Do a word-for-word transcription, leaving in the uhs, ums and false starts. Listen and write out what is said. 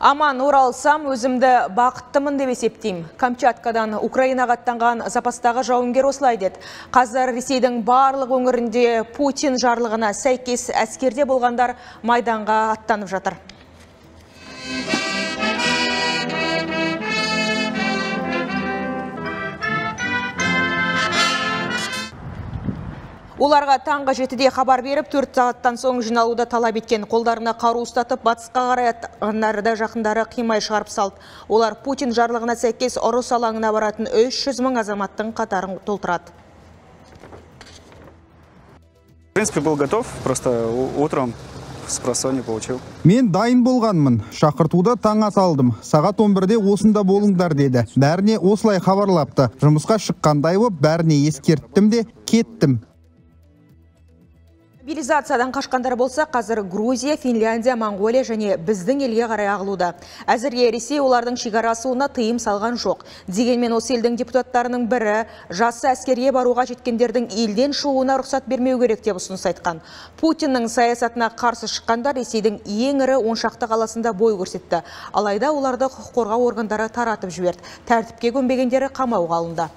Аман оралсам, өзімді бақыттымын деп есептеймін. Камчаткадан Украинаға аттанған запастағы жауынгер осылай деді. Қазір Ресейдің барлық өңірінде Путин жарлығына сәйкес әскерде болғандар майданға аттанып жатыр. Оларға таңғы жетіде хабар беріп, төрт сағаттан соң жиналуды талап еткен. Қолдарына қару ұстатып, батысқа қарай аттанғандарды жақындары қимай шығарып салды. Олар Путин жарлығына сәйкес ұрыс алаңына баратын үш жүз мың азаматтың қатарын толтырады. В принципе, был готов, просто утром с просонья получил. Мен дайын болғанмын. Шақыртуды таң ата алдым. Сағат он бірде осында болыңдар деді. Бәріне осылай хабарлапты. Жұмысқа шыққандай боп, бәріне ескерттім де кеттім. Мобилизациядан қашқандар болса, қазір Грузия, Финляндия, Монголия және біздің елге қарай ағылуда. Әзірге Ресей олардың шекарасуына тыйым салған жоқ. Дегенмен осы елдің депутаттарының бірі жасы әскерге баруға жеткендердің елден шығуына рұқсат бермеу керек деп ұсыныс айтқан. Путиннің саясатына қарсы шыққандар Ресейдің ең ірі он шақты қаласында бой көрсетті. Алайда оларды құқық қорғау органдары таратып жіберді. Тәртіпке көнбегендері қамауға алынды.